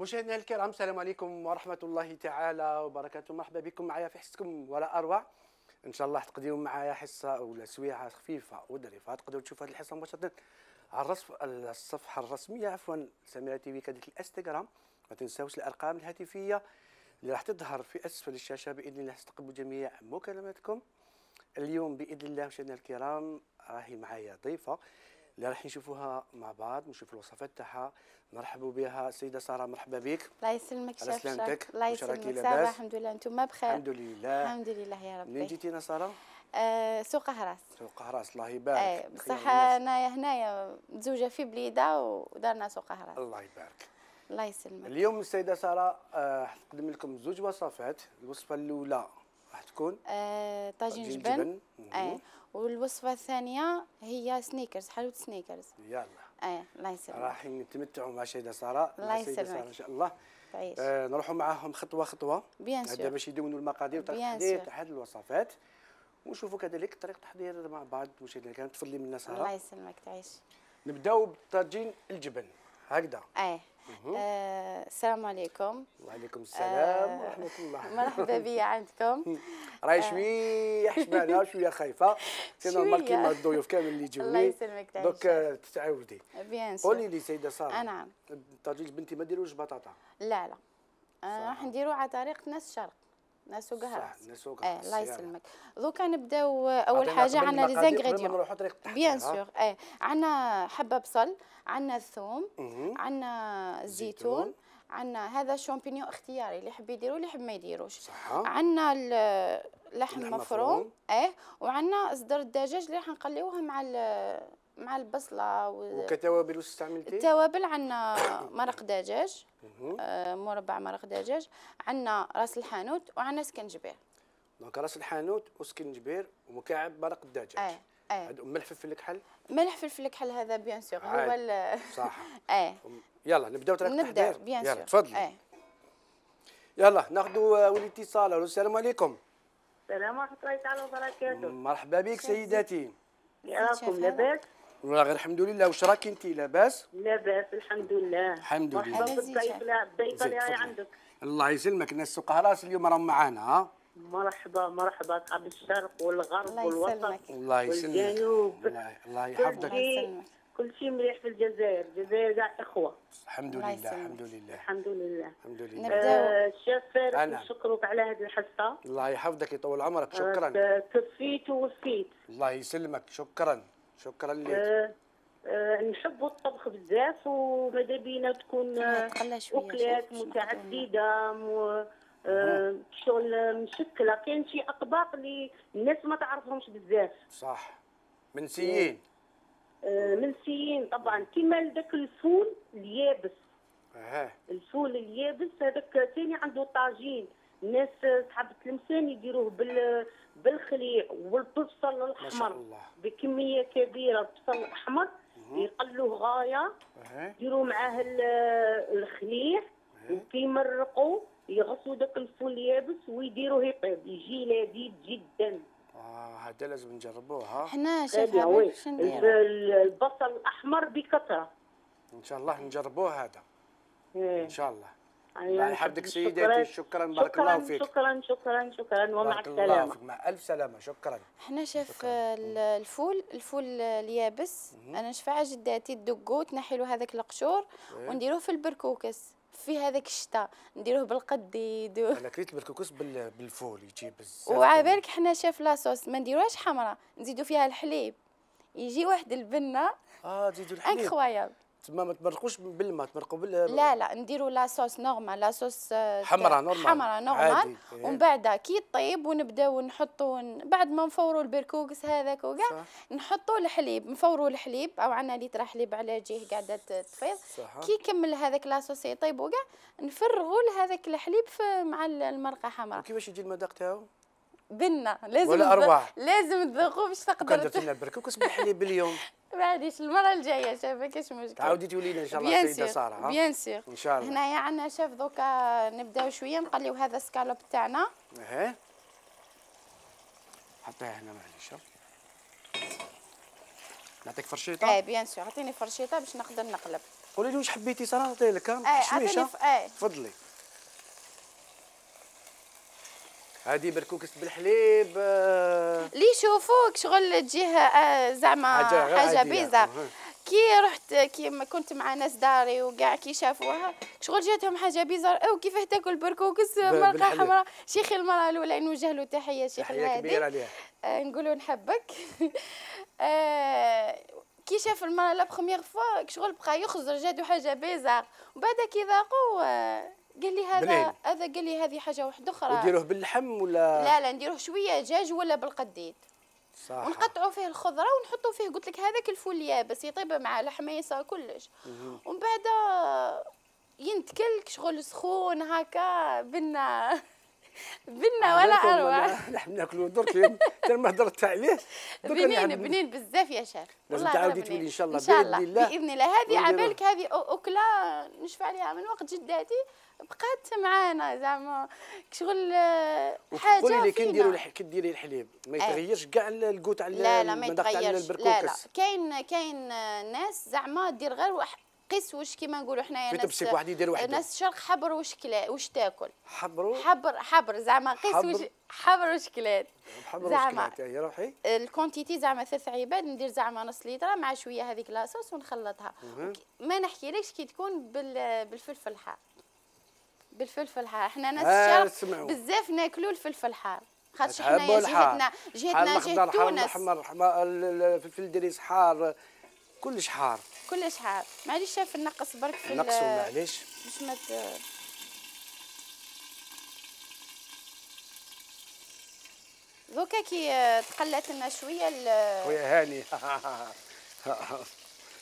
مشاهدينا الكرام، السلام عليكم ورحمة الله تعالى وبركاته. مرحبا بكم معايا في حصتكم ولا أروع. إن شاء الله تقضيو معايا حصة ولا سويعة خفيفة وظريفة. تقدروا تشوفوا هذه الحصة مباشرة على الصفحة الرسمية سميرة تي في كذلك الانستغرام. ما تنساوش الأرقام الهاتفية اللي راح تظهر في أسفل الشاشة بإذن الله. تستقبلوا جميع مكالماتكم. اليوم بإذن الله مشاهدينا الكرام راهي معايا ضيفة اللي راح نشوفوها مع بعض، نشوفوا الوصفات تاعها. نرحبوا بها السيده ساره، مرحبا بك. الله يسلمك شاف. سلامتك. الله يسلمك. صافا الحمد لله، انتم بخير؟ الحمد لله الحمد لله يا ربي. منين جيتينا ساره؟ سوق هراس. سوق هراس، الله يبارك. بصح انايا هنايا متزوجه في بليده ودارنا سوق هراس. الله يبارك. الله يسلمك. اليوم السيده ساره نقدم لكم زوج وصفات. الوصفه الاولى راح تكون طاجين جبن. والوصفه الثانيه هي سنيكرز، حلوه سنيكرز. يلا الله يسلمك. راح نتمتعوا مع السيده ساره. الله يسلمك ان شاء الله. تعيش. نروحوا معاهم خطوه خطوه. بيان سور. هذا باش يدونوا المقادير وطريقه تحضير تاع هذه الوصفات، ونشوفوا كذلك طريقه التحضير مع بعض. مشاهدينا الكرام تفضلي منا ساره. الله يسلمك. تعيش. نبداو بطاجين الجبن هكذا. السلام عليكم. وعليكم السلام ورحمه الله. مرحبا بيا عندكم. راهي شويه حشمانه وشويه خايفه، سي نورمال كيما الضيوف كامل اللي يجوني. الله يسلمك. تعيش. دوك تتعودي. بيان سور. قولي لي سيده ساره. نعم. الطاجين بنتي ما ديروش بطاطا؟ لا راح نديرو على طريقه ناس الشرق، ناس سوق هراس. ناس سوق هراس. الله يسلمك. دوكا نبداو اول حاجه عندنا لي زانغريديون. نروحوا طريقه التحضير. بيان سور. عندنا حبه بصل، عندنا الثوم، عندنا الزيتون، عندنا هذا شامبينيون اختياري، اللي يحب يديرو اللي يحب ما يديروش. عندنا اللحم مفروم. وعندنا صدر الدجاج اللي راح نقليوها مع البصله وكتوابل واش استعملتي؟ التوابل عندنا مرق دجاج، مربع مرق دجاج، عندنا راس الحانوت، وعندنا سكنجبير. دونك راس الحانوت وسكنجبير ومكعب مرق الدجاج. ملح فلفل كحل. ملح فلفل كحل هذا بيان سور هو صح. يلا نبداو طريقه التحضير. نبداو بيان سور. يلا تفضلي. يلا ناخذوا الاتصال. السلام عليكم. السلام ورحمة الله تعالى وبركاته. مرحبا بك سيداتي. راكم لاباس؟ والله غير الحمد لله. واش راك انت لاباس؟ لاباس الحمد لله. الحمد لله. مرحبا بالضيفة اللي راهي عندك. الله يسلمك. الناس سوق هراس اليوم راهم معانا. مرحبا اصحاب الشرق والغرب والوسط الله يسلمك. والجنوب. الله يحفظك. كل شيء مليح في الجزائر. الجزائر كاع اخوه. الحمد لله الحمد لله الحمد لله. الحمد لله. الشيف فارس نشكرك على هذه الحصه. الله يحفظك يطول عمرك. شكرا. كفيت ووفيت. الله يسلمك. شكرا لك. نحبوا الطبخ بزاف، وماذا بينا تكون اكلات متعدده شغل مشكله. كاين شي اطباق اللي الناس ما تعرفهمش بزاف. صح. منسيين. منسيين طبعا، كيما داك الفول اليابس. الفول اليابس هذاك ثاني عنده طاجين. الناس صحاب التلمسان يديروه بالخليع والبصل الاحمر بكميه كبيره. البصل الاحمر يقلوه غايه، يديروا معاه الخليع، وكيمرقوا يغسلوا داك الفول اليابس ويديروه يطيب، يجي لذيذ جدا. هذا لازم نجربوه. حنا شاف باش نديرو البصل الاحمر بكثره. ان شاء الله نجربوه هذا. ان شاء الله. الله يحفظك سيداتي. شكرا. بارك الله فيك. شكرا ومع السلامه. مع الف سلامه. شكرا. حنا شاف الفول اليابس انا نشفع جداتي تدقو تنحي له هذاك القشور ونديروه في البركوكس في هذاك الشتاء، نديروه بالقديد انا كريت البركوكس بالفول يجي بزاف. وعابالك حنا شاف لاصوص ما نديروهاش حمراء، نزيدوا فيها الحليب يجي واحد البنه. تزيدوا الحليب انكرويابل. تما ما تمرقوش بالماء، تمرقوا لا نديروا لاصوص نورمال، لاصوص حمراء نورمال. ومن بعد كي طيب ونبداو نحطوا بعد ما نفوروا البركوكس هذاك وكاع نحطوا الحليب، نفوروا الحليب او عندنا لتر حليب على جهه قاعده تفيض. كي يكمل هذاك لاصوص يطيب وكاع نفرغوا لهذاك الحليب مع المرقه حمراء. وكيفاش يجي المذاق تاعو؟ بنه لازم ولا أرواح. لازم تذوقوا باش تقدروا. درت لنا البركوكس بالحليب اليوم. معليش المره الجايه شاف كاش مشكل. تعاودي تولي لنا ان شاء الله سيده ساره. بيان سير ان شاء الله. هنايا عندنا شاف دوكا نبداو شويه نقليو هذا السكالوب تاعنا. حطيها هنا معليش. نعطيك فرشيطه. بيان سير عطيني فرشيطه باش نقدر نقلب. قولي لي واش حبيتي ساره نعطي لك عطيني تفضلي. هذه بركوكس بالحليب اللي يشوفوك شغل تجيه زعما حاجه بيزار. كي ما كنت مع ناس داري وكاع كي شافوها شغل جاتهم حاجه بيزار او كيفاه تاكل بركوكس مرقه حمراء. شيخي المراه الاولى نوجه له تحيه شيخ الهادي نقولوا نحبك. كي شاف المراه لا بروميير فوا شغل بقى يخزر جاتو حاجه بيزار وبعد كي ذاقوا قال لي هذا قال لي هذه حاجه واحده اخرى. نديروه باللحم ولا لا نديروه شويه دجاج ولا بالقديد صح ونقطعوا فيه الخضره ونحطوا فيه قلت لك هذاك الفول يابس يطيب مع الحميصه كلش ومن بعد ينتكل شغل سخون هكا بنا ولا اروع. نحن ناكلوا درك حتى ما هضرت عليه بنين بزاف يا شيخ. لازم تعاودي تولي ان شاء الله باذن الله. هذه عبالك هذه اكله نشفع عليها من وقت جداتي بقات معانا زعما شغل حاجه. قولي لي كي نديري الحليب ما يتغيرش كاع الكوت على لا ما يتغيرش. لا كاين ناس زعما دير غير قيس واش كيما نقولوا حنايا ناس شرق حبر واش تاكل حبر زعما قيس حبر واش كلات زعما روحي الكونتيتي زعما 3 عباد ندير زعما نص لتر مع شويه هذيك لاصوص ونخلطها. ما نحكيلكش كي تكون بالفلفل الحار. بالفلفل الحار احنا ناس الشرق بزاف ناكلوا الفلفل الحار خاطش حنايا جهتنا جهه تونس. حار الفلفل الدريس حار كلش حار معليش شاف نقص برك في نقصوا معليش باش ما دوكا كي تقلات لنا شويه خويا هاني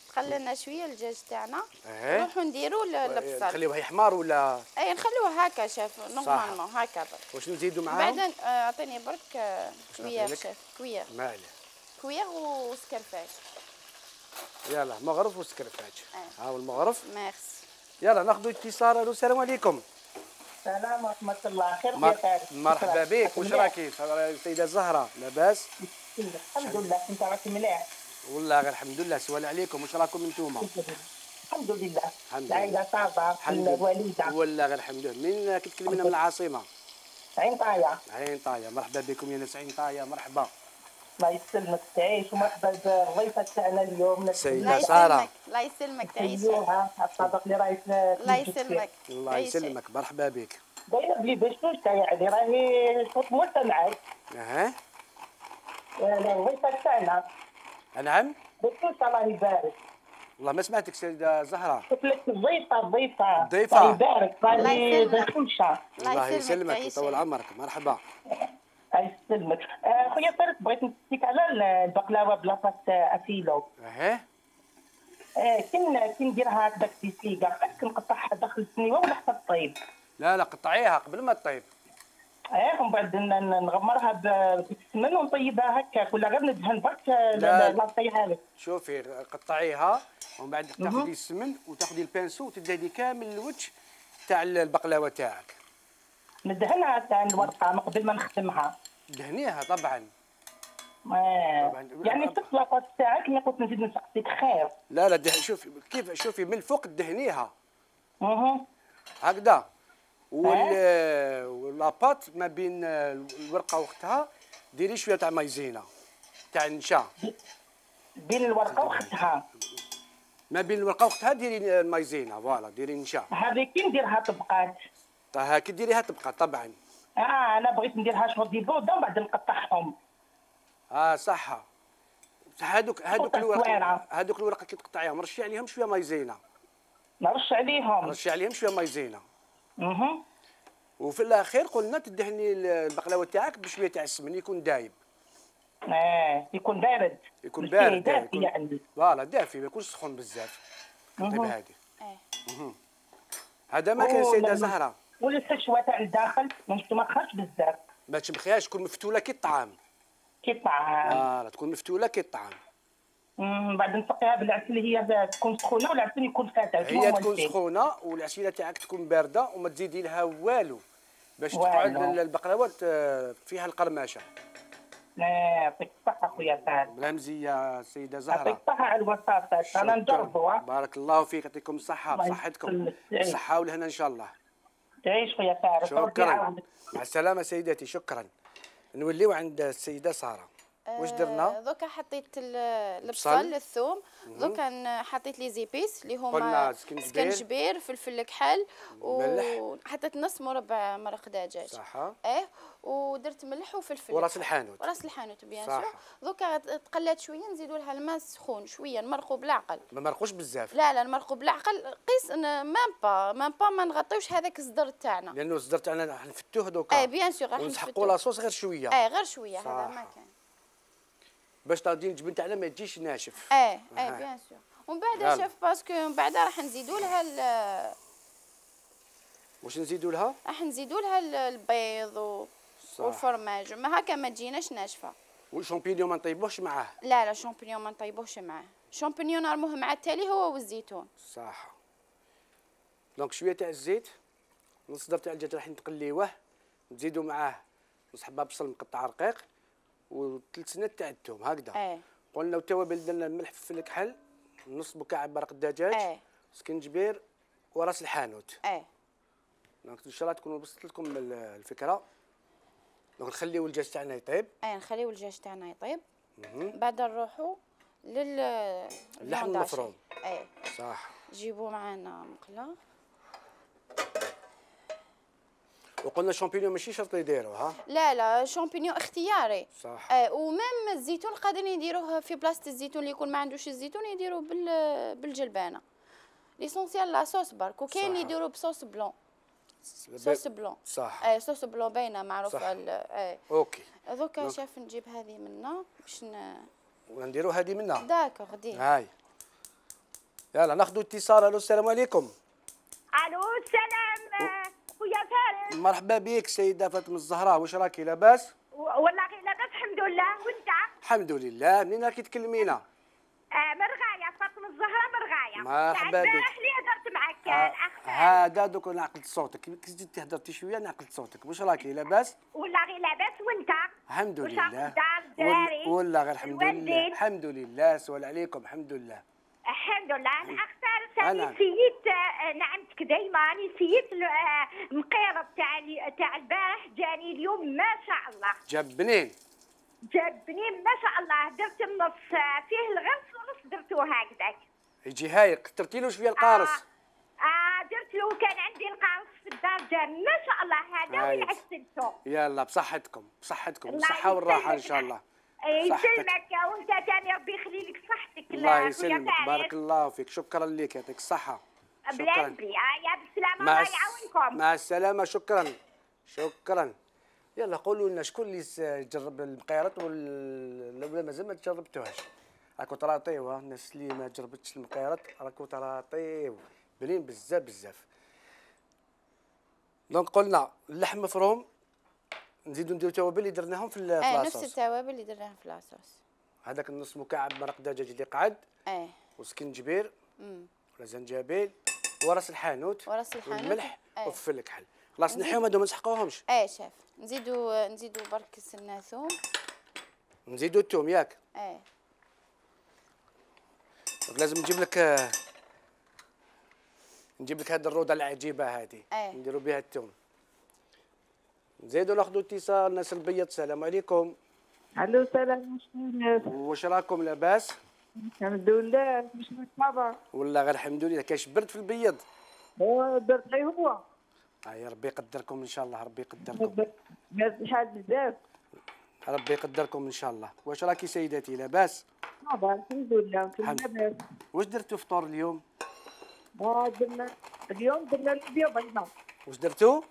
تقلى لنا شويه الدجاج تاعنا نروحوا نديروا البصل. نخليوه يحمر ولا نخلوه هكا شاف نورمالمون هكا برك. واش نزيدوا معاهم؟ بعد اعطيني برك كوير شاف كوير وسكرفاج. يلا مغرف وسكرفاج. ها هو المغرف. ميرسي. يلا ناخذوا اتصال. السلام عليكم. السلام ورحمة الله. خير يا فارس. مرحبا بك. واش راكي السيدة زهرة؟ لاباس؟ الحمد لله. انت راكي مليح؟ والله غير الحمد لله. سؤال عليكم واش راكم انتوما؟ الحمد لله. العائلة صافا الوالدة. والله غير الحمد لله. من كتكلمينا من العاصمة؟ عين طاية. عين طاية. مرحبا بكم يا ناس عين طاية. مرحبا. الله يسلمك تعيش ومرحبا بالضيفة تاعنا اليوم السيدة سارة. الله يسلمك تعيش. الطبق اللي راهي الله يسلمك. الله يسلمك. مرحبا بك. دايره بلي بشوشة يعني راهي صوت مستمعك. الضيفة تاعنا. نعم. بشوشة الله يبارك. والله ما سمعتك سيدة زهرة. قلت لك الضيفة الله يبارك. راهي بشوشة. الله يسلمك ويطول عمرك. مرحبا. الله يسلمك. خويا فارس بغيت نسقسيك على البقلاوه بلاصه افيلو. كي نديرها هكذاك بسيقه كنقطعها داخل السنيوه ولا حتى طيب؟ لا قطعيها قبل ما تطيب. ومن بعد نغمرها بالسمن ونطيبها هكاك ولا غير ندهن برك لاصيها لك. شوفي قطعيها ومن بعد تاخذي السمن وتاخذي البانسو وتدهني كامل الوجه تاع البقلاوه تاعك. ندهنها تاع الورقه من قبل ما نخدمها. دهنيها طبعا. يعني في اللاطاط تاعك اللي قلت نزيد نسقسيك خير. لا شوفي من الفوق دهنيها. هكذا. واللاباط ما بين الورقه وختها ديري شويه تاع مايزينا تاع النشا. بين الورقه وختها. ما بين الورقه وختها ديري المايزينا فوالا ديري النشا. هذه كي نديرها طبقات. هاكي ديريها طبقات طبعا. انا بغيت نديرها شغل دي بودا ومن بعد نقطعهم. صح. هذوك الورقه كي تقطعيهم رشي عليهم شويه مايزينا. نرش عليهم شويه مايزينا. وفي الاخير قلنا تدهني البقلاوه تاعك بشويه تاع السمن يكون دايب. يكون بارد. يكون بارد دافي يعني. فوالا دافي ما يكونش سخون بزاف. طيب هذه. هذا ما كان سيدة زهرة. والحشوه تاع الداخل ما تمخرش بزاف. ما تمخيهاش تكون مفتوله كي الطعام. تكون مفتوله كي الطعام. بعد نسقيها بالعسل هي تكون سخونه والعسل يكون فاتح. هي تكون سخونه والعسيله تاعك تكون بارده وما تزيدي لها والو باش تقعد البقلاوات فيها القرماشه. يعطيك الصحه خويا سعد. بلا مزيه السيده يعطيك زهره. الصحه على الوساطه، انا شكراً. نجربوا. بارك الله فيك، يعطيكم الصحه الله بصحتكم، يسلمك. بالصحه والهنا ان شاء الله. تعيش خويا سعد، ربي شكرا، يعاونك. مع السلامه سيدتي. شكرا. نوليو عند السيده ساره. واش درنا؟ دوكا حطيت البصل الثوم، دوكا حطيت لي زيبيس اللي قلنا هما سكنجبير. سكنجبير، فلفل كحل، ملح. وحطيت نص مربع مرق دجاج. صح. ودرت ملح وفلفل وراس الحانوت. وراس الحانوت بيان صح. سور. دوكا تقلات شويه، نزيدوا لها الماء سخون شويه، نمرقوا بالعقل. ما مرقوش بزاف. لا نمرقوا بالعقل، قيس مام با ما نغطيوش هذاك الصدر تاعنا، لانه الصدر تاعنا راح نفتوه دوكا. بيان سور راح ونسحقوا لاصوص غير شويه. غير شويه، هذا ما كان باش تغدي الجبن تاعنا ما تجيش ناشف. بيان سور. ومن بعد شاف باسكو من بعد راح نزيدوا لها واش نزيدوا لها؟ راح نزيدوا لها البيض والفرماج، ما هكا ما تجيناش ناشفه. والشامبينيون ما نطيبوهش معاه. لا شامبينيون ما نطيبوهش معاه، شامبينيون نرموه مع التالي هو والزيتون. صح. دونك شويه تاع الزيت، نص صدر تاع الدجاج راح نقليوه، نزيدوا معاه نص حبه بصل مقطع رقيق وثلث سنات تاع الثوم هكذا. قلنا والتوابل درنا الملح فلفل كحل، نص مكعب مرق الدجاج، سكنجبير وراس الحانوت. دونك ان شاء الله تكون وصلت لكم الفكره. دونك نخليو الدجاج تاعنا يطيب. نخليو الدجاج تاعنا يطيب. بعد نروحوا اللحم المفروم. صح. جيبوا معنا مقله. وقلنا الشامبينيون ماشي شرط يديروها. لا شامبينيون اختياري. صح. ومام الزيتون قادرين يديروه في بلاصه الزيتون، اللي يكون ما عندوش الزيتون يديروه بالجلبانه. ليسونسيال لا صوص برك، وكاين يديروه بصوص بلون. صوص بلون. صح. صوص بلون باينه معروفه. اوكي. دوكا شاف نجيب هذه منا باش ونديروا هذه منا. داكوغ دي. هاي يلا ناخذوا اتصال. الو السلام عليكم. الو السلام خويا فارس. مرحبا بك سيده فاطمه الزهراء، واش راكي لاباس؟ والله غير لاباس الحمد لله، وانت؟ الحمد لله. منين راكي تكلمينا؟ من رغايه، فاطمه الزهراء من رغايه. مرحبا بك. البارح اللي هضرت معك الاخ هذا دوك انا عقلت صوتك، كي زدتي هضرتي شويه انا عقلت صوتك. واش راكي لاباس؟ والله غير لاباس، وانت؟ الحمد لله. الدار والله غير الحمد لله. الحمد لله. سؤال عليكم. الحمد لله. الحمد لله. الاخ فارس أنا. انا نسيت نعمتك دايما، نسيت المقيرب تاع البارح جاني اليوم ما شاء الله. جاب بنين. جاب بنين ما شاء الله، درت النص فيه الغرس ونص درتوه هكذاك. يجي هاي كثرتي له شويه القارص. درت له، كان عندي القارص في الدار جاب ما شاء الله، هذا وين عسلته. يلا بصحتكم بالصحه والراحه ان شاء الله. يسلمك وانت ثاني، ربي يخلي لك صحتك. الله يسلمك، بارك الله فيك. شكرا لك، يعطيك الصحه. بلا يا بالسلامه، الله يعاونكم. مع السلامه. شكرا. يلا قولوا لنا شكون اللي جرب المقيرات ولا مازال ما جربتوهاش. راكو تراطيو الناس اللي ما جربتش المقيرات، راكو تراطيو بنين بزاف. دونك قلنا اللحم مفروم، نزيدو نديرو توابل اللي درناهم في لاصوص. نفس التوابل اللي درناهم في لاصوص. هذاك النص مكعب مرق دجاج اللي قعد. وسكنجبير ولا زنجبيل وراس الحانوت والملح وفلفل كحل. خلاص نحيهم هذو ما نسحقوهمش. شاف نزيدو برك سنه ثوم، نزيدو الثوم ياك. لازم نجيب لك هذه الروضه العجيبه هذه. نديروا بها الثوم. نزيدوا ناخذوا اتصال. ناس البيض. السلام عليكم. الو السلام. واش راكم لاباس؟ الحمد لله. مش مرحبا. والله غير الحمد لله. كاش برد في البيض؟ درت غير هو. يا ربي يقدركم ان شاء الله. ربي يقدركم. شحال بزاف. ربي يقدركم ان شاء الله. واش راكي سيداتي لاباس؟ الحمد لله لاباس. واش درتوا فطور اليوم؟ اليوم درنا لوبيا بيضاء. واش درتوا؟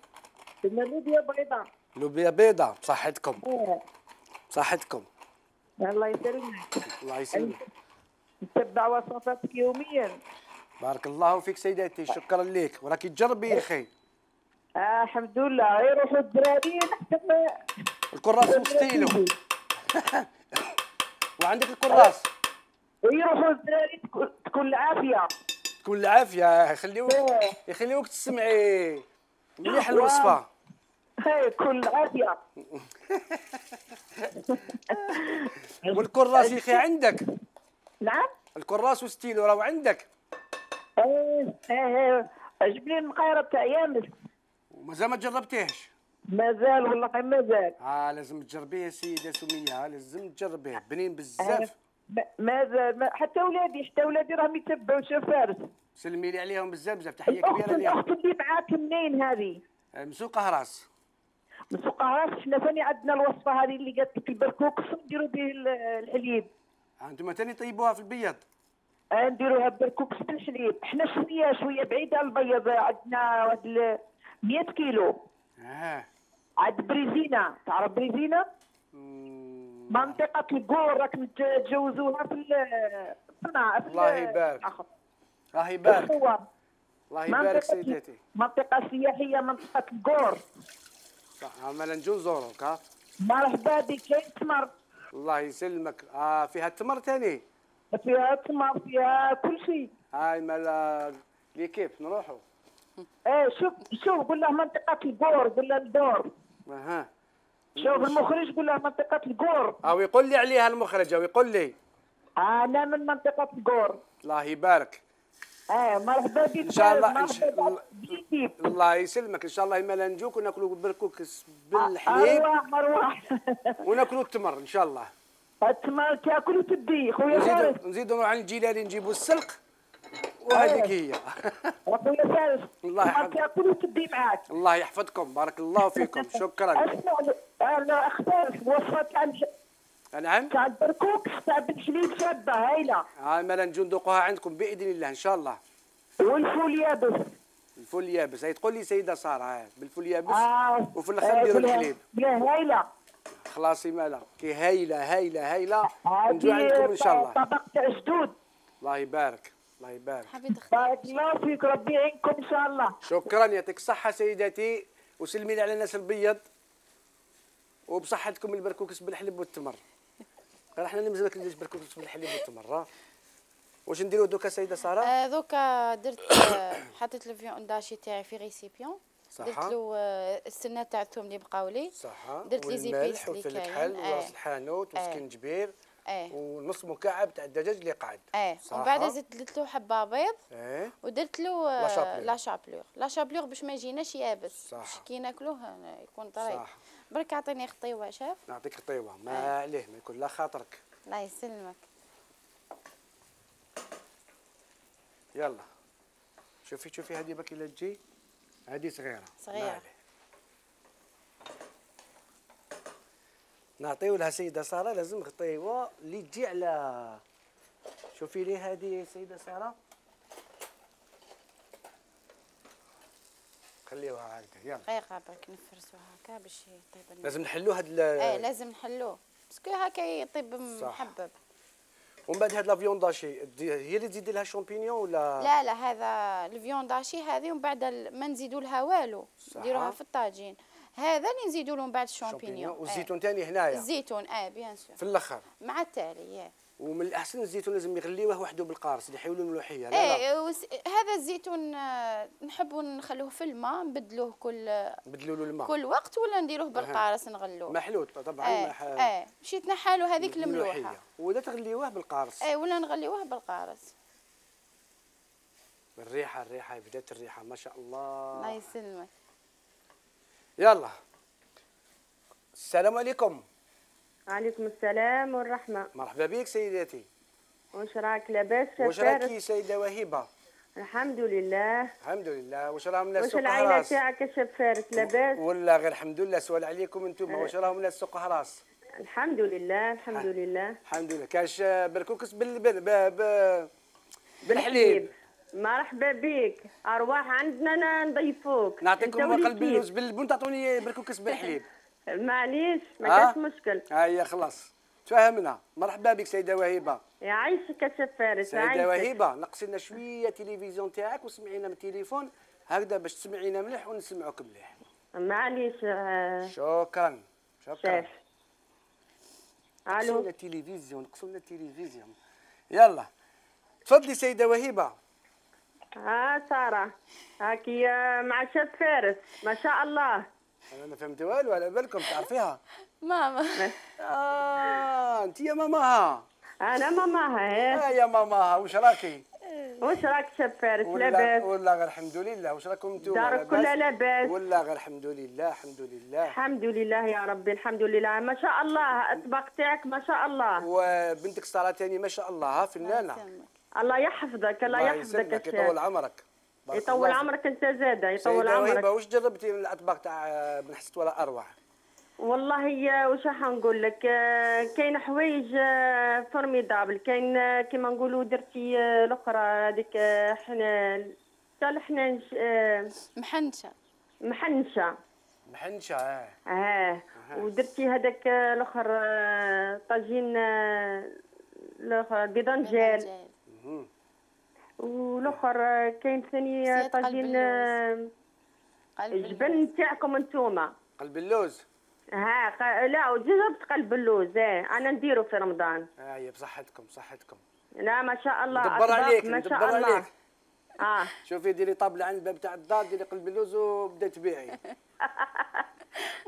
درنا لوبيا بيضاء. لوبيا بيضاء. بصحتكم. بصحتكم. الله يسلمك. الله يسلمك. نتبع وصفاتك يوميا. بارك الله فيك سيداتي. شكرا لك. وراكي تجربي يا اخي. الحمد لله. يروحوا الدراري نحتفل الكراس مستيلو. وعندك الكراس. ويروحوا الدراري تكون العافيه. تكون العافيه. يخليوك تسمعي مليح الوصفه. هاي كل عافيه. والكراس يا اخي عندك؟ نعم. الكراس وستيلو راهو عندك؟ ايه جبت لي المقيره تاع يامس. ومازال ما جربتيهش؟ مازال والله مازال. لازم تجربيه يا سيده سميه، لازم تجربيه، بنين بزاف. مازال حتى ولادي راهم يتبعوا شوف فارس. سلمي لي عليهم بزاف بزاف، تحيه كبيره ليهم. الاخت اللي معاك منين هذه؟ من سوق قهراس. من سوق قهراس. حنا ثاني عندنا الوصفه هذه اللي قالت لك البركوكس نديروا به الحليب. انتم ثاني طيبوها في البيض؟ نديروها بالكوكس بالحليب. حنا شويه بعيده على البيض، عندنا واحد 100 كيلو. عاد بريزينا، تعرف بريزينا؟ منطقة الكور راك تجوزوها في الصناعة. الله يبارك. الله يبارك. الله يبارك سيدتي. منطقة سياحية منطقة الكور. صح، عمالا نجو نزوروك. مرحبا بك. كاين تمر. الله يسلمك. فيها التمر ثاني؟ فيها تمر، فيها كل شيء. هاي مال ليكيب نروحوا. شوف قول له منطقة الكور، قول له الدور. شوف المخرج قول له منطقة الكور. يقول لي عليها المخرج، يقول لي. أنا من منطقة الكور. الله يبارك. مرحبا بك ان شاء الله. الله يسلمك. ان شاء الله ما نجوك وناكلوا بركوكس بالحليب. أرواح وناكلوا التمر ان شاء الله. التمر تاكل وتدي خويا فارس. نزيدوا نروح عند الجيلاني نجيبوا السلق وهذيك هي. خويا فارس الله يحفظك. تاكل وتدي معاك. الله يحفظكم، بارك الله فيكم. شكرا. اسمع اختار وصفه تاع نعم تاع البركوكس تاع بالحليب شابه هايله. مالا نجو ندوقوها عندكم باذن الله ان شاء الله. والفول يابس. الفول اليابس هي تقول لي سيده ساره بالفول اليابس. وفي الاخر نديروا الحليب. هايله. خلاصي مالا كي هايله هايله هايله. نجو عندكم ان شاء الله. طبق تاع جدود. الله يبارك. الله يبارك. بارك الله فيك، ربي يعينكم ان شاء الله. شكرا، يعطيك الصحه سيداتي، وسلمي لي على الناس البيض وبصحتكم البركوكس بالحليب والتمر. احنا اللي مازال كنديرش بركوكس بالحليب والتمر. واش نديرو دوكا سيده ساره؟ دوكا درت حطيت الفيون داشي تاعي في ريسيبيون. درت له السنه تاع الثوم اللي بقاو لي. درت لي زيبيس اللي كاين الحل وراس الحانوت وسكنجبير ونص مكعب تاع الدجاج اللي قعد. ومن بعد درت له حبه بيض. ودرت له لا شابلور باش ما يجيناش يابس. كي ناكلوه يكون طري. برك اعطيني خطيوه شاف. نعطيك خطيوه ما عليه، ما يكون لا خاطرك. الله يسلمك. يلا شوفي هذه باكي لا تجي، هذه صغيره. نعطيو لها سيده ساره، لازم خطيوه اللي تجي على. شوفي لي هذه سيده ساره، خليوها هكذا. يلا دقيقه برك نفرسوها هكا باش يطيب. لازم نحلو هاد لازم نحلوه باسكو هكا يطيب محبب. ومن بعد هاد لا فيونداشي هي اللي تزيدي لها شامبينيون ولا؟ لا هذا الفيونداشي هذه ومن بعد ما نزيدوا لها والو، نديروها في الطاجين. هذا اللي نزيدوا له من بعد الشامبينيون. والزيتون ثاني هنايا. الزيتون بيان سور في الاخر مع التالي. ومن الاحسن الزيتون لازم يغليوه وحده بالقارص اللي يحيولوا الملوحيه. لا هذا الزيتون نحبوا نخلوه في الماء، نبدلوه نبدلوا له الماء كل وقت، ولا نديروه بالقارص نغلوه محلوط طبعا. باش يتنحى له هذيك الملوحه. ولا تغليوه بالقارص. ولا نغليوه بالقارص. الريحه بدات الريحه ما شاء الله. الله يسلمك. يلا السلام عليكم. وعليكم السلام والرحمة. مرحبا بك سيداتي. واش راك لاباس؟ واش راكي سيدة وهيبة؟ الحمد لله. الحمد لله. واش راهم الناس واش سوق العائلة هراس؟ تاعك يا شاب فارس لاباس؟ ولا غير الحمد لله. سؤال عليكم انتم، واش راهم الناس سوق هراس؟ الحمد لله الحمد لله. الحمد لله. كاش بركوكس بالحليب. مرحبا بك، ارواح عندنا نضيفوك. نعطيكم قلب اللوز بالبن تعطوني بركوكس بالحليب. معليش ما كاش مشكل. هيا خلاص تفاهمنا. مرحبا بك سيدة وهيبة. يعيشك يا شاب فارس. سيدة وهيبة نقصي لنا شوية تلفزيون تاعك وسمعينا من التليفون هكذا باش تسمعينا مليح ونسمعوك مليح. معليش. شكرا. شاف. نقصوا لنا التلفزيون. يلا تفضلي سيدة وهيبة. سارة هاكي مع شاب فارس ما شاء الله. انا ما فهمت والو، على بالكم تعرفيها. ماما. انت يا ماماها. انا ماماها. يا ماماها، واش راكي؟ واش راك شاب فارس؟ لاباس؟ والله غير الحمد لله. واش راكم نتوما؟ دارك كلها لاباس؟ والله غير الحمد لله الحمد لله. الحمد لله يا ربي الحمد لله. ما شاء الله الطبق تاعك ما شاء الله. وبنتك ساره ثاني ما شاء الله فنانه. الله يحفظك الله يحفظك. يطول عمرك. يطول عمرك انت زاده يطول عمرك. واش جربتي من الاطباق تاع بن حست ولا اروع؟ والله واش راح نقول لك، كاين حوايج فورميدابل، كاين كيما نقولوا درتي الاخرى هذيك حنان تاع الحنان محنشه. محنشه ودرتي هذاك الاخر طاجين الاخر بيضنجال، والاخر كاين ثاني طاجين الجبن تاعكم انتوما. قلب اللوز. لا وجربت قلب اللوز. انا نديرو في رمضان. هي بصحتكم صحتكم. لا ما شاء الله ندبر عليك ما شاء الله. شوفي ديري طابله عند الباب تاع الدار، ديري قلب اللوز وبدا تبيعي.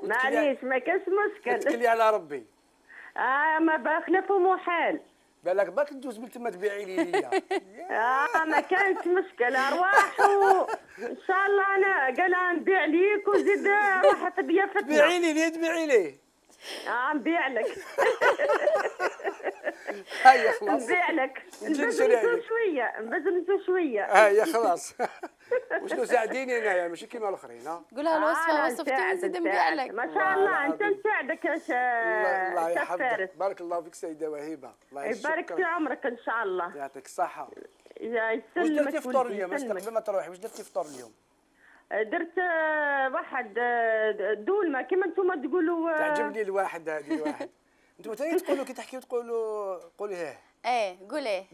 معليش ما كاش مشكل. تكلي على ربي. ما بخلف محال. بالك باك تدوز من تما تبيعي لي. ما كانش مشكل. ارواح ان شاء الله. انا قال نبيع ليك وزيد روح تبيع فتنه. تبيعي لي ليه تبيعي لي؟ نبيع لك. هيا خلاص. نبيع لك. نبزنزو شويه. هيا خلاص. وشنو ساعديني انايا ماشي كيما الاخرين. قولها الوصفه وصفتي ونزيد نبيع لك. ما شاء الله انت نساعدك يا الله يحفظك. بارك الله فيك سيده وهيبه. الله يبارك في عمرك ان شاء الله. يعطيك الصحه. يسلمك. واش درتي فطور اليوم؟ قبل ما تروحي واش درتي فطور اليوم؟ درت واحد دولمه كيما نتوما تقولوا. تعجبني الواحد هذه الواحد. انتم ثاني تقولوا كي تحكيو تقولوا قولي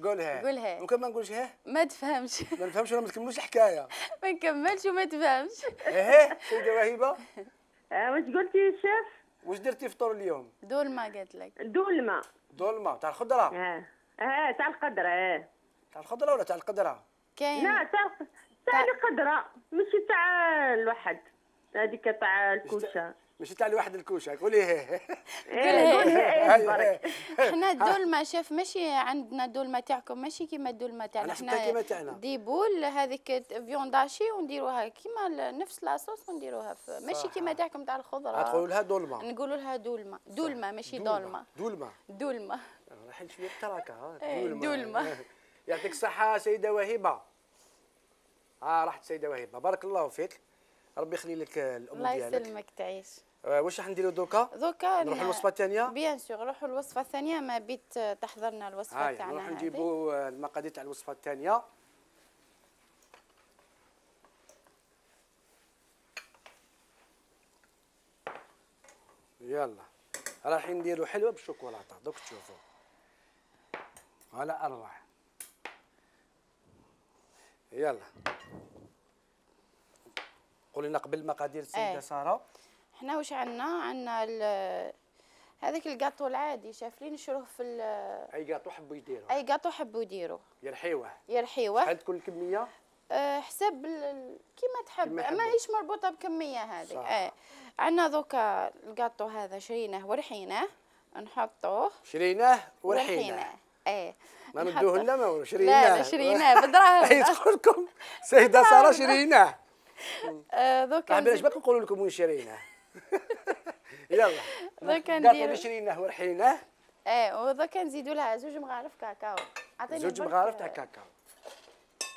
قولها ممكن ما نقولش ما تفهمش. ما نفهمش ولا ما تكملوش الحكايه. ما نكملش وما تفهمش. سيده وهيبه. واش قلتي يا شيف؟ واش درتي فطور اليوم؟ دولمه قالت لك. دولمه تاع الخضره. تاع الخضره. تاع الخضره ولا تاع القدره؟ كاين. لا تاع القدره ماشي تاع الواحد. هذيك تاع الكوشه. ماشي تاع الواحد الكوشه. قولي قولي. حنا الدولمه شاف ماشي عندنا دولمه تاعكم ماشي كيما الدولمه تاعنا. حنا ديبول هذيك فيونداشي ونديروها كيما نفس لاصوص ونديروها ماشي كيما تاعكم تاع الخضره. تقولوا لها دولمه. نقولوا لها دولمه ماشي دولمه. رايحين شويه تراكه. دولمه. يعطيك الصحه سيده وهبه. راحت سيده وهبه بارك الله فيك. ربي يخلي لك الام ديالك. الله يسلمك تعيش. واش راح نديرو دوكا نروحوا للوصفه الثانيه. بيان سور نروحوا للوصفه الثانيه. ما بيت تحضرنا الوصفه تاعنا. نروح نجيبوا المقادير تاع الوصفه الثانيه. يلا رايحين نديروا حلوه بالشوكولاته دوك تشوفوا على اروع. يلا قولي لنا قبل المقادير السيده ساره. حنا واش عندنا هذاك الكاطو العادي شافلين نشروه في اي كاطو حبوا يديروه. يرحيوه. شحال تكون الكميه؟ حسب كيما تحب. ماهيش مربوطه بكميه هذه. عندنا دوكا الكاطو هذا شريناه ورحيناه نحطوه. ما ندوه لنا ما شريناه. لا شريناه بدراهم. تقول لكم سيده ساره شريناه. دوكا بلاش باقي نقولوا لكم وين شريناه. يلا دوكا نديرو شريناه ورحيناه. ودوكا نزيدوا لها 2 مغارف كاكاو. 2 مغارف تاع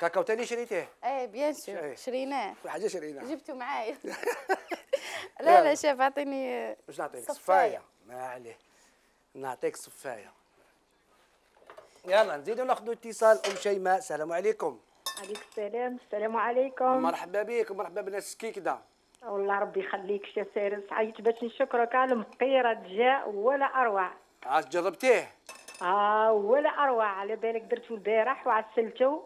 كاكاو ثاني شريتيه؟ بيان سور شريناه. حاجه شريناه جبتو معايا. لا شاف عطيني. واش نعطيك؟ صفايه. ما عليه نعطيك صفايه. يلا نزيدوا ناخذوا اتصال. ام شيماء السلام عليكم. عليكم السلام. السلام عليكم. مرحبا بك ومرحبا بالناس كيكدا. والله ربي يخليك شي فارس. عيط باش نشكرك على المقيره جاء ولا اروع. جربتيه؟ ولا اروع. على بالك درتو البارح وعسلتو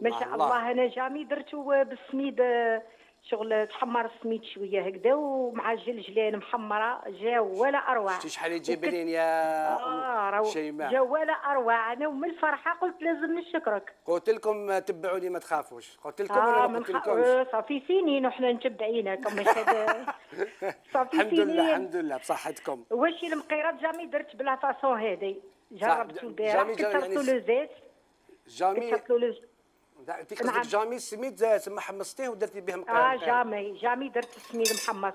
ما شاء الله. انا جامي درتو بالسميد شغل تحمر السميد شويه هكذا ومع جلجلان محمره جاو ولا اروع. شتي شحال يجيب لين يا شيماء؟ جاو ولا اروع. انا ومن الفرحه قلت لازم نشكرك. قلت لكم تبعوني ما تخافوش. قلت لكم ولا ما قلت لكمش؟ صافي سنين وحنا متبعينك. صافي الحمد سنين. لله الحمد لله بصحتكم. واش المقيرات جامي درت بلا فاصون هذه. جربت البارح كثرت له زيت. جامي كثرت له انت قصدك جامي السميد تما حمصتيه ودرتي به مقير؟ جامي درت السميد محمص.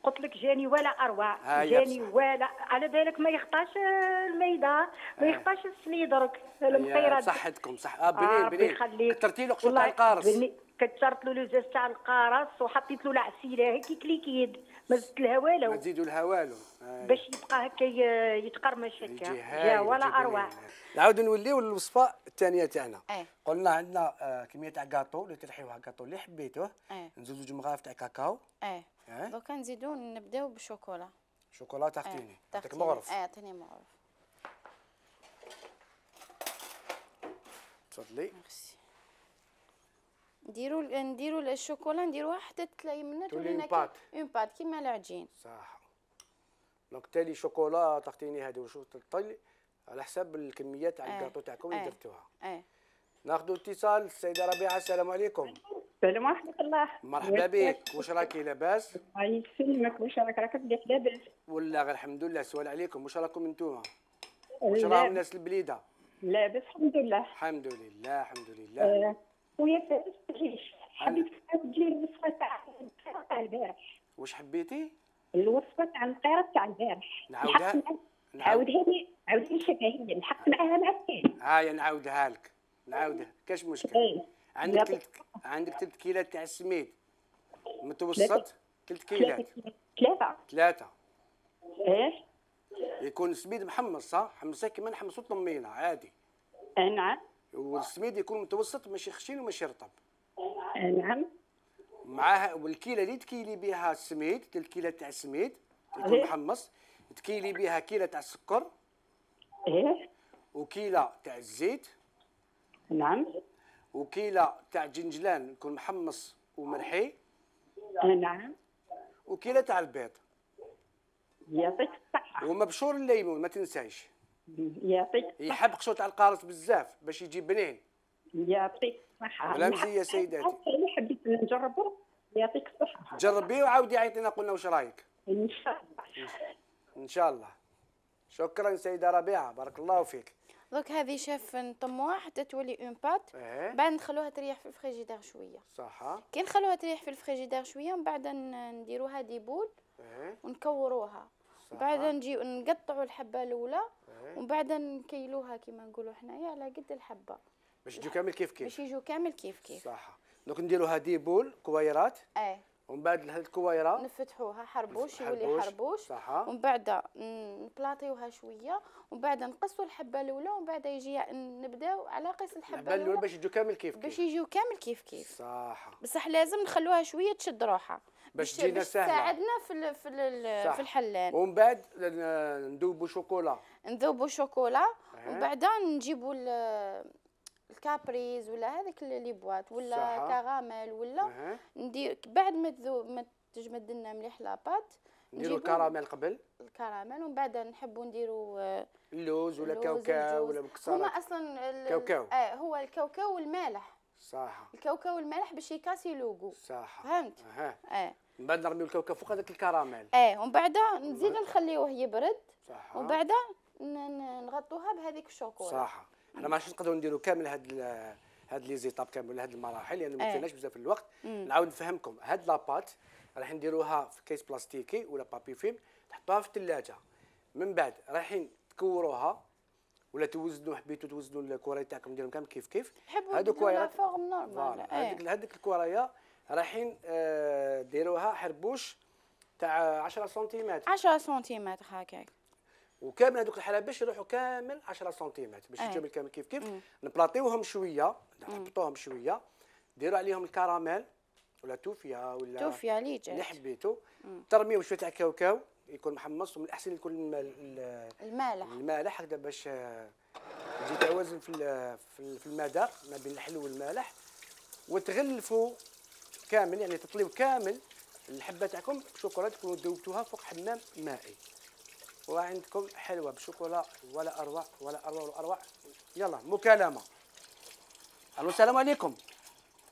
قلت لك جاني ولا اروع. جاني ولا على بالك ما يخطاش الميده ما يخطاش السميد درك المقيرات. صحتكم صح. بنين كثرتي له قشور تاع القارص. كثرت له لوزاز تاع القارص وحطيت له العسيله هكا كليكيد ما زدت لها والو. ما تزيدوا لها والو باش يبقى هكا يتقرمش هكا. جا ولا اروع. نعاودوا نوليو للوصفه الثانيه تاعنا. قلنا عندنا كميه تاع كاطو اللي ترحيوها كاطو اللي حبيتوه. نزيدوا جوج مغارف تاع كاكاو. دوكا نزيدو نبداو بالشوكولا. شوكولا تاعتيني. عطيك مغرف. عطيني مغرف. تفضلي. ميرسي. نديرو الشوكولا نديروها حتى تلاقي منها تولي اون بات كيما العجين. صح. دونك تالي شوكولا تعطيني هذه وشو تطلي على حساب الكميه تاع الكاطو تاعكم اللي درتوها. ناخذوا اتصال. السيده ربيعه السلام عليكم. السلام ورحمه الله. مرحبا بك. واش راكي لاباس؟ الله يسلمك. واش راك مليح لاباس؟ والله غير الحمد لله. السؤال عليكم واش راكم انتوما؟ واش راهم الناس البليده؟ لاباس الحمد لله. الحمد لله الحمد لله. خويا فارس حبيت تعاود لي الوصفه تاع البارح. واش حبيتي؟ الوصفه تاع القيره تاع البارح. نعاودها. عاودها لي شفهيه نحط معاها معكين. هاي نعاودها لك. نعاودها كاش مشكل. عندك 3 كيلات تاع السميد متوسط. 3 كيلات. 3. يكون السميد محمص صح؟ حمصيه كيما نحمصو الطمينه عادي. نعم. والسميد يكون متوسط ماشي خشين وماشي رطب. نعم. معاها والكيله اللي تكيلي بها السميد 3 كيلات تاع السميد يكون محمص تكيلي بها كيله تاع السكر. وكيله تاع الزيت. نعم. وكيله تاع جنجلان يكون محمص ومرحي. نعم. وكيله تاع البيض. يعطيك الصحه. ومبشور الليمون ما تنسايش. يعطيك. يحب قشور تاع القارص بزاف باش يجي بنين. يعطيك الصحه. بلا مزيه سيداتي. حبيت نجربه. يعطيك الصحه. جربيه وعاودي عيطينا قلنا واش رايك. ان شاء الله. ان شاء الله. شكرا سيده ربيعه بارك الله فيك. دوك هذه شاف نطموها حتى تولي اون بات. بعد نخلوها تريح في الفريجيدير شويه. صح. كي نخلوها تريح في الفريجيدير شويه من بعد نديروها دي بول. ونكوروها. بعد نجيو نقطعوا الحبه الاولى. ومن بعد نكيلوها كيما نقولوا حنايا على قد الحبه. باش يجيو كامل كيف كيف. باش يجيو كامل كيف كيف. صح. دونك نديروها دي بول كويرات. ومن بعد هاد الكويره نفتحوها حربوش يولي حربوش. صح. ومن بعد نبلاطيوها شويه ومن بعد نقصوا الحبه الاولى ومن بعد يجي نبداو على قيس الحبه الاولى باش يجيو كامل كيف كيف. باش يجيو كامل كيف كيف. صح. بصح لازم نخلوها شويه تشد روحها باش تجينا سهله. تساعدنا في الحلان. ومن بعد نذوبوا شوكولا. ومن بعد نجيبوا الكابريز ولا هذيك لي بواط ولا كراميل ولا ندير بعد ما تجمد لنا مليح لاباط نديروا الكراميل قبل. الكراميل ومن بعد نحبوا نديروا اللوز ولا كاوكاو ولا مكسرات. هما اصلا كاوكاو. هو الكاوكاو والمالح. صح. الكاوكاو والمالح باش يكاسي لوغو. صح. فهمت. من بعد نرميو الكاوكاو فوق هذاك الكراميل. ومن بعد نزيدو نخليوه يبرد. صح. ومن بعد نغطوها بهذيك الشوكولا. صح. حنا ماشي نقدروا نديروا كامل هاد لي زيتاب كامل هاد المراحل لان ما كايناش بزاف الوقت. نعاود نفهمكم هاد لاباط راح نديروها في كيس بلاستيكي ولا بابي فيلم تحطوها في الثلاجه. من بعد رايحين تكوروها ولا توزنوا حبيتوا توزنوا الكوراي تاعكم ديرهم كامل كيف كيف. هادو كورايات فورم نورمال. هذيك الكورايه رايحين ديروها حربوش تاع 10 سنتيمتر. 10 سنتيمتر هكاك. وكامل هذوك الحلاب باش يروحوا كامل 10 سنتيمتر باش يجيو كامل كيف كيف. نبلاطيوهم شويه نحطوهم شويه ديروا عليهم الكراميل ولا توفيا ولا توفيا اللي جات اللي حبيتو. ترميو شويه تاع كاوكاو يكون محمص ومن الاحسن يكون المالح هكذا باش يجي توازن في المذاق ما بين الحلو والمالح. وتغلفوا كامل، يعني تطليو كامل الحبه تاعكم شوكولا تكونوا ذوبتوها فوق حمام مائي، وعندكم حلوه بشوكولا ولا اروع ولا اروع ولا اروع. يلا مكالمه. الو السلام عليكم.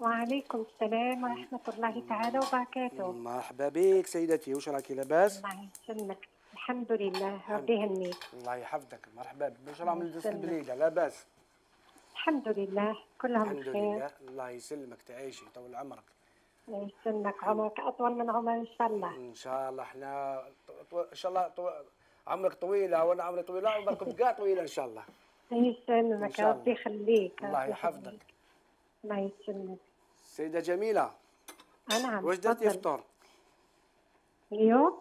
وعليكم السلام ورحمة الله تعالى وبركاته. مرحبا بك سيدتي، واش راكي لاباس؟ الله يسلمك، الحمد لله ربي يهنيك. الله يحفظك، مرحبا بك. واش راه من جنس البليده لاباس؟ الحمد لله كلهم الحمد بخير. لله. الله يسلمك، تعيشي طول عمرك. الله يسلمك، عمرك أطول من عمر إن شاء الله. ان شاء الله احنا ان شاء الله عمرك طويله وانا عمري طويله وعمركم كاع طويله ان شاء الله. الله يسلمك ربي يخليك. الله يحفظك. الله يسلمك. سيدة جميلة. نعم. واش درتي فطور؟ اليوم؟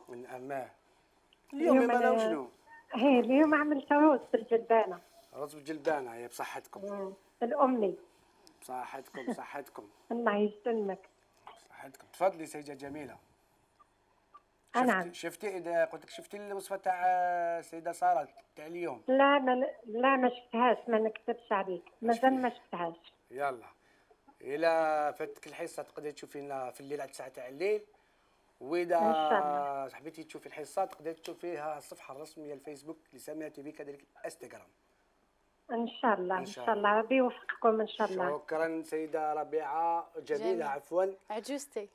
اليوم ما شنو؟ اليوم عملت رز بالجلبانة. رز بالجلبانة، هي بصحتكم. الأمي. بصحتكم بصحتكم. الله يسلمك. بصحتكم. تفضلي سيدة جميلة. نعم. شفتي اذا قلت لك شفتي الوصفة تاع السيدة سارة تاع اليوم؟ لا ما شفتهاش، ما نكذبش عليك، مازال ما شفتهاش. يلا إلا فاتك الحصة تقدري تشوفي لنا في الليل على 9 تاع الليل، وإذا حبيتي تشوفي الحصة تقدري تشوفيها الصفحة الرسمية الفيسبوك لسامية تي في، كذلك الانستغرام. إن شاء الله إن شاء الله ربي يوفقكم إن شاء الله. شكرا سيدة ربيعة جميلة. عفوا عجوزتي.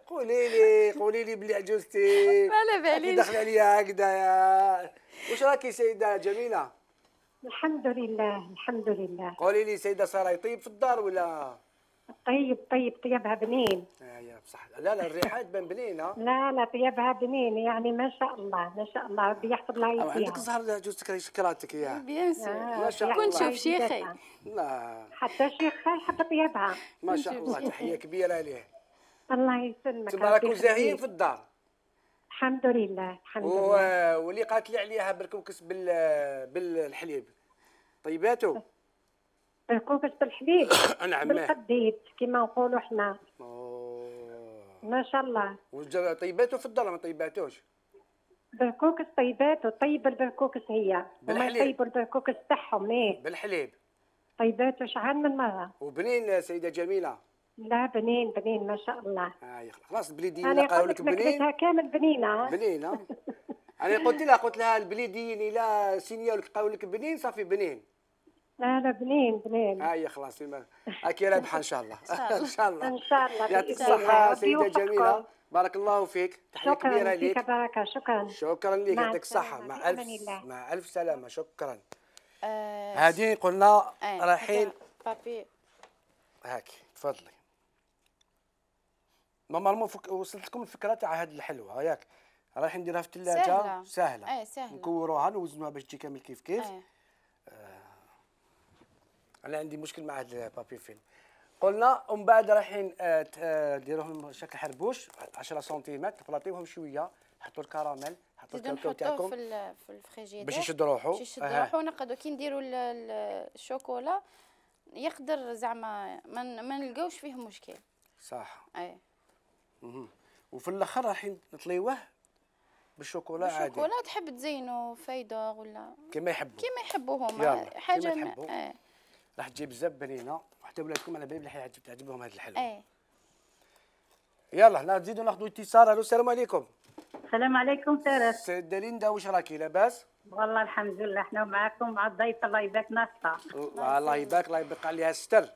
قولي لي بلي عجوزتي. ما على باليش. دخل عليا هكذايا. واش راكي سيدة جميلة؟ الحمد لله الحمد لله. قولي لي سيدة سارة يطيب في الدار ولا؟ طيبها بنين. يا بصح. لا الريحة تبان بنينة. لا طيبها بنين، يعني ما شاء الله ما شاء الله ربي يحفظ لها يديها. عندك زهر جوزتك شكراتك يا. بيان سور. ما شاء الله. كون شوف شيخي. لا حتى شيخي يحب طيبها. ما شاء الله، تحية كبيرة ليه. الله يسلمك. تما راكم زاهيين في الدار. الحمد لله الحمد لله. واللي قالت لي عليها بركوكس بالحليب طيباتو؟ بركوكس بالحليب. نعم. بالقديد كما نقولوا حنا. ما شاء الله. طيباتو في الدار ما طيباتوش؟ بركوكس طيباتو، طيب البركوكس هي. هما يطيبوا البركوكس تاعهم. بالحليب. طيباتو شحال من مرة. وبنين سيدة جميلة؟ لا بنين ما شاء الله. خلاص البليديين قالوا لك بنين. انا كامل بنينه. بنينه. انا قلت لها البليديين الا سينيا قالوا لك بنين صافي بنين. لا بنين. هاي خلاص هاكي رابحه ان شاء الله. ان شاء الله. ان شاء الله. يعطيك الصحة سيدة جميلة، بارك الله فيك، تحية كبيرة ليك. شكرا بركة. شكرا لك، يعطيك الصحة. مع ألف سلامة. شكرا. هذه قلنا رايحين. بابي هاكي تفضلي. نورمالمون وصلت لكم الفكره تاع هاد الحلوه ياك، رايحين نديرها في الثلاجه. سهله. سهله. نكوروها نوزنوها باش تجي كامل كيف. انا عندي مشكل مع هاد البابي فيلم. قلنا ومن بعد رايحين ديروهم شكل حربوش 10 سنتيمتر، تبلاطيوهم شويه، حطوا الكراميل، حطوا الكاكاو تاعكم في الفريجيدير باش يشد روحو. ونقدروا كي نديروا الشوكولا يقدر زعما ما نلقاوش فيه مشكل. صح. وفي الاخر رايحين نطليوه بالشوكولا عادي. الشوكولا تحب تزينو فايدة ولا كما يحبوا هما حاجه راح تجيب بزاف بنينه، وحتى ولادكم على بالي بلي تعجبهم هذه الحلوه. يلا نزيدو ناخذوا اتصال. الو السلام عليكم. السلام عليكم سارة. سيدة ليندا واش راكي لاباس؟ والله الحمد لله، حنا معاكم مع الضيف. الله يبارك ناصحة. الله يبارك، الله يبقى عليها الستر.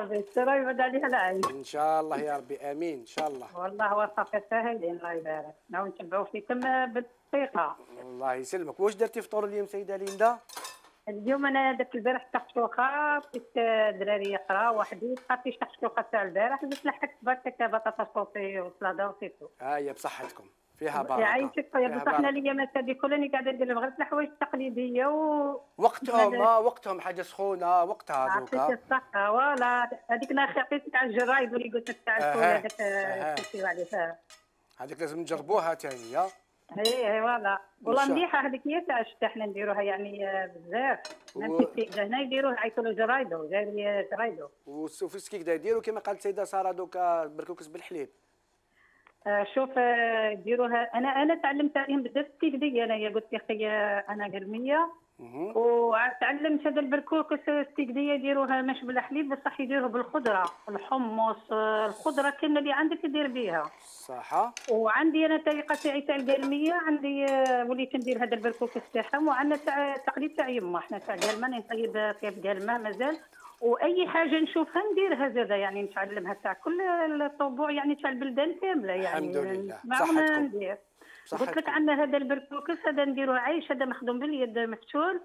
بالستر يبعد عليها العين ان شاء الله يا ربي، امين ان شاء الله. والله وصفة ساهلين الله يبارك، ناو نتبعوا فيكم بالثقة. الله يسلمك. واش درتي فطور اليوم سيدة ليندا؟ اليوم انا درت البارح تحشوخه، بقيت الدراري يقراو وحدي، بقات لي تحشوخه تاع البارح، درت لحقت برك بطاطا صوصي وسلاطه وسيتو. هي بصحتكم فيها بركه. يعيشك خويا، بصح حنا اليامات هذه كلها قاعده ندير غير الحوايج التقليديه وقتهم حاجه سخونه وقتها دوكا. يعطيك الصحه. فوالا هذيك انا عطيتك على الجرايد اللي قلت لك تاع الفول هذاك كنتي عليها، هذيك لازم نجربوها ثاني. اي فوالا والله مليحه هذيك، هي تاع الشتا حنا نديروها يعني بزاف. نمشي هنا يديروه يعيطوا له جرايدو جاي جرايدو. وفي السكيك يديروا كما قالت السيده ساره دوكا بركوكس بالحليب. شوف ديروها. انا تعلمت عليهم بزاف التقليديه. انا قلت يا اخي انا قرميه وتعلمت هذا البركوكس السيكديه يديروها مش بالحليب بصح يديروه بالخضره، الحمص، الخضره كامله اللي عندك دير بها. صح. وعندي انا الطريقه تاعي تاع القلميه، عندي وليت ندير هذا البركوكس تاعهم، وعندنا تاع تقليد تاع يما، احنا تاع قلمه نطيب طيب قلمه مازال، واي حاجه نشوفها نديرها زاده يعني نتعلمها تاع كل الطبوع يعني تاع البلدان كامله يعني. الحمد لله. صحتكم. قلت لك عندنا هذا البركوكس هذا نديروه عيش، هذا مخدوم باليد مفتول.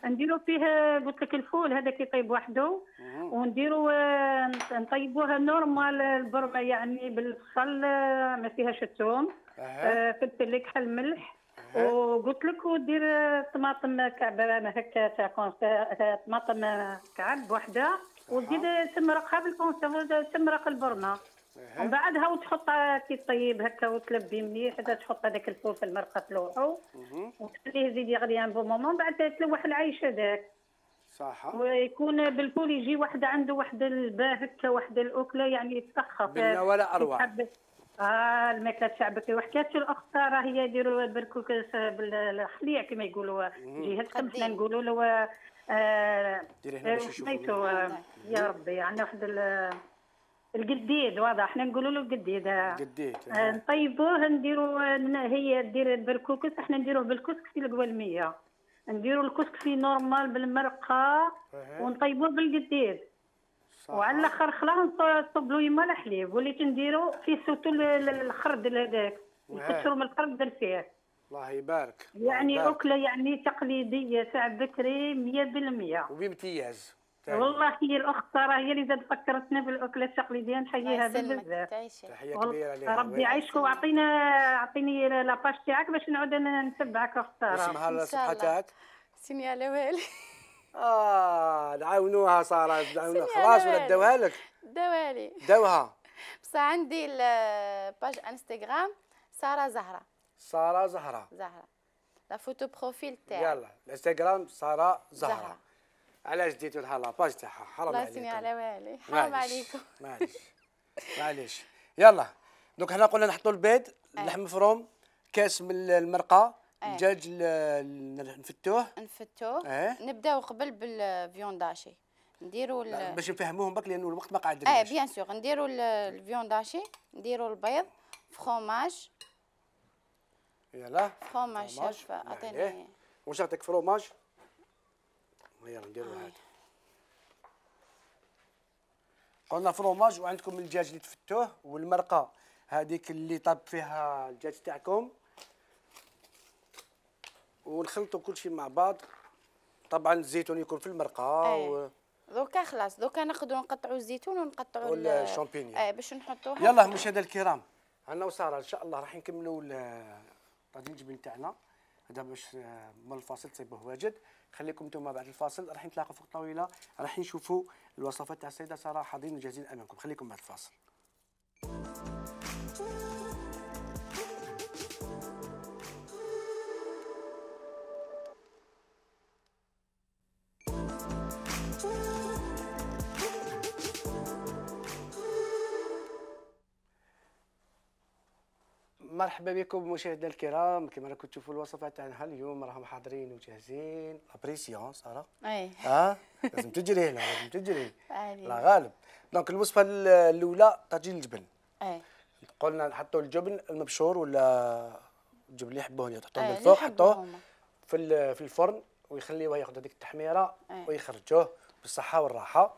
نديرو فيه قلت لك الفول هذاك يطيب وحده، ونديرو نطيبوها نورمال البرمه يعني بالبصل ما فيهاش الثوم، فلفل كحل ملح، وقلت لك ودير طماطم كعبه هكا تاع طماطم كعب وحده، وتزيد تمرقها بالكونسيرف تمرق البرمه، ومن بعدها وتحط كي طيب هكا وتلبي مليح، حتى تحط هذاك الفول في المرقه تلوحو وتخليه يزيد يغلي ان بو مومون، بعد تلوح العيش هذاك. صح. ويكون بالفول يجي واحد عنده واحد الباه هكا، واحد الاكله يعني يتسخف بالله ولا اروع. الماكله تاعك. وحكات الاخت ساره هي يديروا البركوكس بالخليع كما يقولوا جهتكم، حنا نقولوا له ديري هنا باش يشوفوا. يا ربي عندنا واحد القديد، واضح احنا نقولوا له القديد. نطيبوه نديروا هي دير البركوكس، احنا نديروه بالكسكسي القوالميه، نديروا الكسكسي نورمال بالمرقه ونطيبوه بالقديد، وعلى الاخر خلاص نصب له يما الحليب، وليت نديروا فيه سوتو الخردل هذاك نكثروا من الخردل فيه. الله يبارك. يعني اكله يعني تقليديه تاع بكري 100% وبامتياز. والله هي الاخت ساره هي اللي زاد فكرتنا بالاكله التقليديه، نحييها بزاف. تحيه كبيره لها. ربي يعيشك واعطيني لاباج تاعك باش نعود نتبعك اخت ساره. اسمها الصفحه تاعك؟ سيني على والي. نعاونوها ساره، نعاونوها خلاص ولا داوها لك؟ داوالي. داوها. بصح عندي الباج انستغرام ساره زهره. ساره زهره. لا فوتو بروفيل تاعي. يلا الانستغرام ساره زهره. علاش ديتو لها لاباج تاعها؟ حرام عليكم. الله يسني على والي، حرام عليكم. معليش. يلا دوك حنا قلنا نحطوا البيض، اللحم مفروم، كاس من المرقه، الدجاج نفتوه. نبداو قبل بالفيونداشي، نديروا باش نفهموهم بك لانه الوقت ما قعدناش. بيان سور نديروا الفيونداشي، نديروا البيض، فروماج. يلا فروماج شاف عطيني. واش نعطيك فروماج؟ يلا نديروا هذا. قلنا فروماج، وعندكم الدجاج اللي تفتوه والمرقه هذيك اللي طاب فيها الدجاج تاعكم، ونخلطوا كل شيء مع بعض. طبعا الزيتون يكون في المرقه. دوكا خلاص، دوكا ناخذوا نقطعوا الزيتون ونقطعوا الشامبينيون باش نحطوها. يلا مشاهدينا الكرام، انا وساره ان شاء الله راح نكملوا طاجين الجبن تاعنا هذا باش من الفاصل تصيبوه واجد. خليكم انتم بعد الفاصل راح نتلاقوا فوق الطاوله، راح نشوفوا الوصفات تاع السيده ساره حاضرين وجاهزين امامكم. خليكم بعد الفاصل. مرحبا بكم مشاهدينا الكرام، كما راكم تشوفوا الوصفات تاعنا اليوم راهم حاضرين وجاهزين. لابريسيون ساره. لازم تجري هنا، لازم تجري. لا غالب. دونك الوصفه الاولى طاجين الجبن. قلنا نحطوا الجبن المبشور ولا الجبن اللي يحبوه تحطوه من الفوق، حطوه في الفرن ويخليوه ياخذ هذيك التحميره ويخرجوه بالصحه والراحه.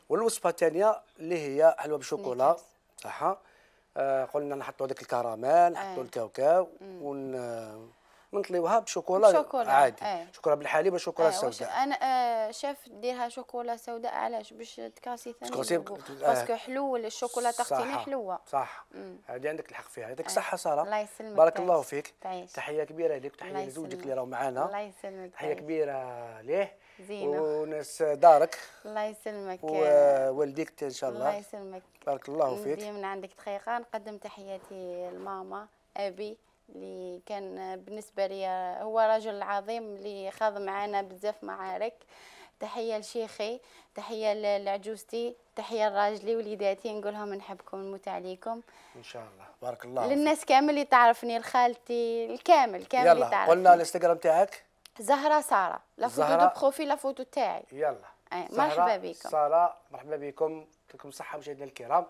والوصفه الثانيه اللي هي حلوه بالشوكولا. صح. قلنا نحطوا هذاك الكراميل، نحطوا الكاوكاو ونطليوها بشوكولا عادي. شوكولا بالحليب وشوكولا سوداء. انا شاف ديرها شوكولا سوداء علاش؟ باش تكاسي ثاني باسكو حلو الشوكولا تختيني حلوه. صح. هذه عندك الحق فيها. يعطيك الصحه ساره. الله يسلمك. بارك الله فيك. تحيه كبيره لك، تحيه لزوجك اللي راهو معنا. الله يسلمك. تحيه كبيره ليه زينه وناس دارك. الله يسلمك. ووالديك ان شاء الله. الله يسلمك. بارك الله فيك. ندي من عندك دقيقه نقدم تحياتي لماما ابي اللي كان بالنسبه لي هو رجل عظيم اللي خاض معنا بزاف معارك. تحيه لشيخي، تحيه لعجوزتي، تحيه لراجلي وليداتي، نقول لهم نحبكم ونموت عليكم ان شاء الله. بارك الله للناس كامل اللي تعرفني، لخالتي الكامل اللي تعرفني. يلا قلنا الانستغرام تاعك. زهره ساره، لا فوتو دو بروفيل، لا فوتو تاعي. يلا مرحبا بكم ساره، مرحبا بكم، يعطيكم الصحه مشاهدينا الكرام.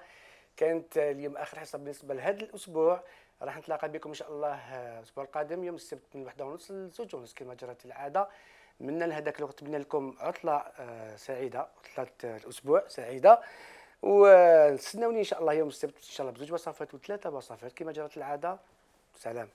كانت اليوم اخر حصه بالنسبه لهذا الاسبوع، راح نتلاقى بكم ان شاء الله الاسبوع القادم يوم السبت من 1:30 ل 2:30 كما جرت العاده. من لهذاك الوقت نتمنى لكم عطله سعيده، عطله الاسبوع سعيده، ونستناوني ان شاء الله يوم السبت ان شاء الله ب2 وصفات و3 وصفات كما جرت العاده. سلام.